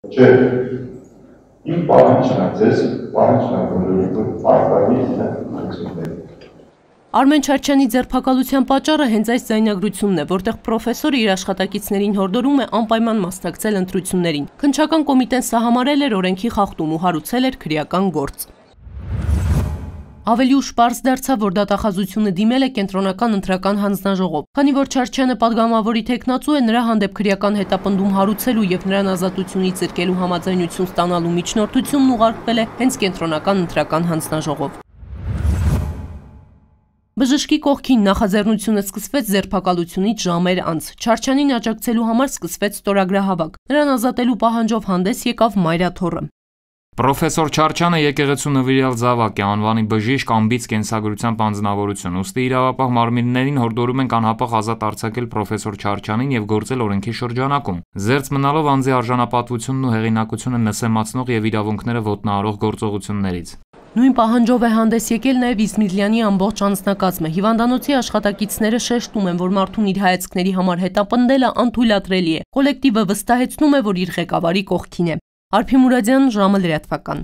Չէ, իմ պահանջն է, ձեզ պահանջն է, որ պարտադիր ընտրությունների։ Արմեն Չարչյանի ձերբակալության պատճառը հենց այս ձայնագրությունն է, որտեղ պրոֆեսորը իր աշխատակիցներին հորդորում է անպայման մասնակցել ընտրություններին։ Քննչական կոմիտեն սահմանել էր օրենքի խախտում ու հարուցել էր քրեական գործ։ Ավելի ուշ պարզ դարձավ, որ դատախազությունը դիմել է կենտրոնական ընտրական հանձնաժողով, քանի որ Չարչյանը պատգամավորի թեկնածու է, նրա հանդեպ քրեական հետապնդում հարուցելու եւ նրան ազատությունից զրկելու համաձայնություն ստանալու միջնորդությունն ուղարկվել է հենց կենտրոնական ընտրական հանձնաժողով։ Բժշկի կողքին նախաձեռնությունը սկսվեց ձերբակալությունից ժամեր անց։ Չարչյանին աջակցելու համար սկսվեց ստորագրահավաք։ Նրան ազատելու պահանջով հանդես եկավ Մայրաթոռը։ Պրոֆեսոր Չարչյանը եկեղեցու նվիրյալ զավակ է, անվանի բժիշկ, անբիծ կենսագրությամբ անձնավորություն, ուստի իրավապահ մարմիններին հորդորում ենք անհապաղ ազատ արձակել պրոֆեսոր Չարչյանին եւ գործել օրենքի շրջանակում, զերծ մնալով անձի արժանապատվությունն ու հեղինակությունը նսեմացնող եւ իրավունքները ոտնահարող գործողություններից։ Նույն պահանջով է հանդես եկել նաև Իզմիլյանի ամբողջ անձնակազմը։ Հիվանդանոցի աշխատակիցները շեշտում են, որ մարդուն իր հայացքների համար հետապնդելը անթույլատրելի է։ Կոլեկտիվը վստահեցնում է, որ իր ղեկավարի կողքին է։ Արփի Մուրադյան, ժամը լրատվական։